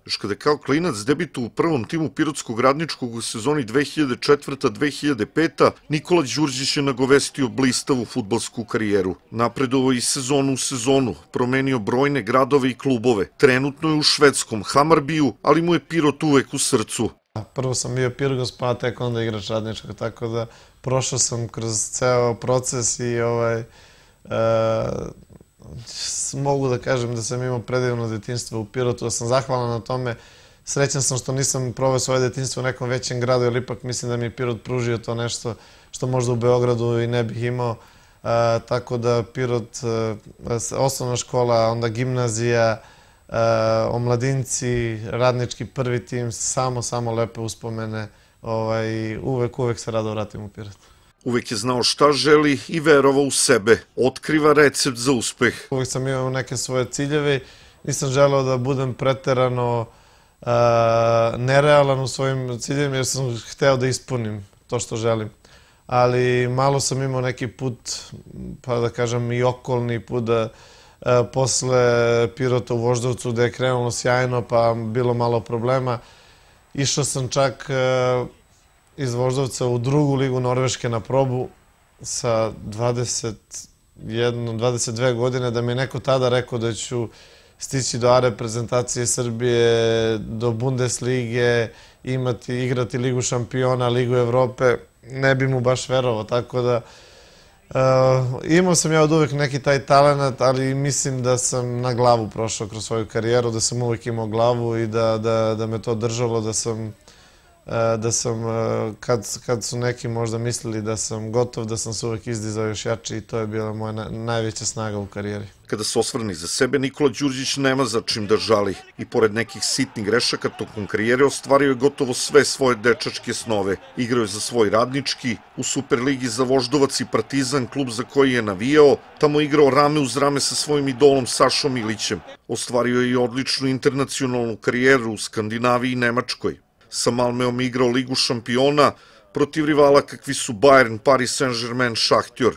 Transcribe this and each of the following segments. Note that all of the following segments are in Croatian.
Još kada kao klinac debitu u prvom timu Pirotskog Radničkog u sezoni 2004-2005, Nikola Đurđić je nagovestio blistavu fudbalsku karijeru. Napredovao iz sezonu u sezonu, promenio brojne gradove i klubove. Trenutno je u švedskom Hamarbiju, ali mu je Pirot uvek u srcu. Prvo sam bio Pirgos, pa tek onda igrač Radničkog, tako da prošao sam kroz ceo proces i mogu da kažem da sam imao predivno detinjstvo u Pirotu, da sam zahvalan na tome. Srećan sam što nisam proveo svoje detinjstvo u nekom većem gradu, jer ipak mislim da mi je Pirot pružio to nešto što možda u Beogradu i ne bih imao. Tako da Pirot, osnovna škola, onda gimnazija, omladinci, Radnički prvi tim, samo lepe uspomene. Uvek se rado vratim u Pirot. Uvek je znao šta želi i verovao u sebe. Otkriva recept za uspeh. Uvek sam imao neke svoje ciljeve. Nisam želeo da budem preterano nerealan u svojim ciljevima, jer sam hteo da ispunim to što želim. Ali malo sam imao neki put, pa da kažem i okolni put, posle Pirota u Voždovcu, gde je krenulo sjajno, pa bilo malo problema. Išao sam čak iz Voždovca u drugu ligu Norveške na probu sa 22 godine, da mi je neko tada rekao da ću stići do A reprezentacije Srbije, do Bundeslige, igrati Ligu šampiona, Ligu Evrope. Ne bi mu baš verovao, tako da imao sam ja od uvek neki taj talent, ali mislim da sam na glavu prošao kroz svoju karijeru, da sam uvek imao glavu i da me to držalo, da sam, kad su neki možda mislili da sam gotov, da sam se uvek izdizao još jači i to je bila moja najveća snaga u karijeri. Kada se osvrni za sebe, Nikola Đurđić nema za čim da žali. I pored nekih sitnih grešaka tokom karijere ostvario je gotovo sve svoje dečačke snove. Igrao je za svoj Radnički, u Superligi za Voždovac i Partizan, klub za koji je navijao, tamo igrao rame uz rame sa svojim idolom Sašom Ilićem. Ostvario je i odličnu internacionalnu karijeru u Skandinaviji i Nemačkoj. Sa Malmeom igrao Ligu šampiona protiv rivala kakvi su Bayern, Paris Saint-Germain, Šahtjor.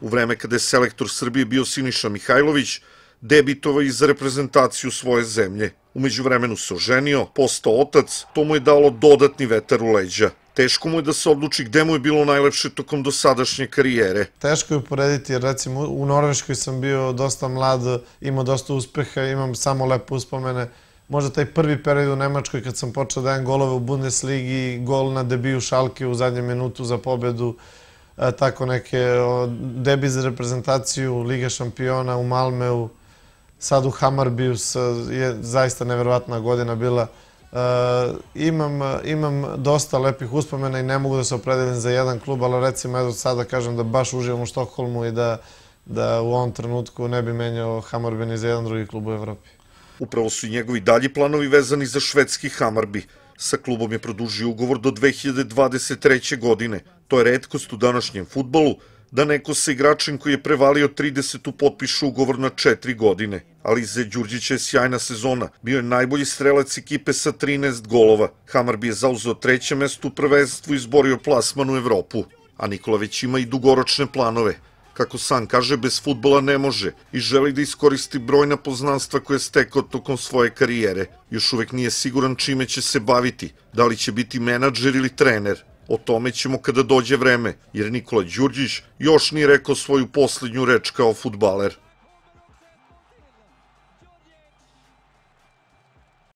U vreme kada je selektor Srbije bio Siniša Mihajlović, debitovao i za reprezentaciju svoje zemlje. U međuvremenu se oženio, postao otac, to mu je dalo dodatni vetar u leđa. Teško mu je da se odluči gde mu je bilo najlepše tokom dosadašnje karijere. Teško je uporediti, jer recimo u Norveškoj sam bio dosta mlad, imao dosta uspeha, imam samo lepe uspomene. Možda taj prvi period u Nemačkoj kad sam počeo da dajem golove u Bundesligi, gol na debiju Šalke u zadnjem minutu za pobedu, tako neke debi za reprezentaciju, Liga šampiona u Malmeu, sad u Hamarbiju je zaista neverovatna godina bila. Imam dosta lepih uspomena i ne mogu da se opredelim za jedan klub, ali recimo evo sada kažem da baš uživam u Štokholmu i da u ovom trenutku ne bi menjao Hammarby ni za jedan drugi klub u Evropi. Upravo su i njegovi dalji planovi vezani za švedski Hammarby. Sa klubom je produžio ugovor do 2023. godine. To je retkost u današnjem fudbalu, da neko sa igračem koji je prevalio 30. potpiše ugovor na 4 godine. Ali za Đurđića je sjajna sezona. Bio je najbolji strelac ekipe sa 13 golova. Hammarby je zauzeo 3. mesto u prvenstvu i izborio plasman u Evropu. A Nikola već ima i dugoročne planove. Kako sam kaže, bez fudbala ne može i želi da iskoristi brojna poznanstva koje je stekao tokom svoje karijere. Još uvek nije siguran čime će se baviti, da li će biti menadžer ili trener. O tome ćemo kada dođe vreme, jer Nikola Đurđić još nije rekao svoju poslednju reč kao fudbaler.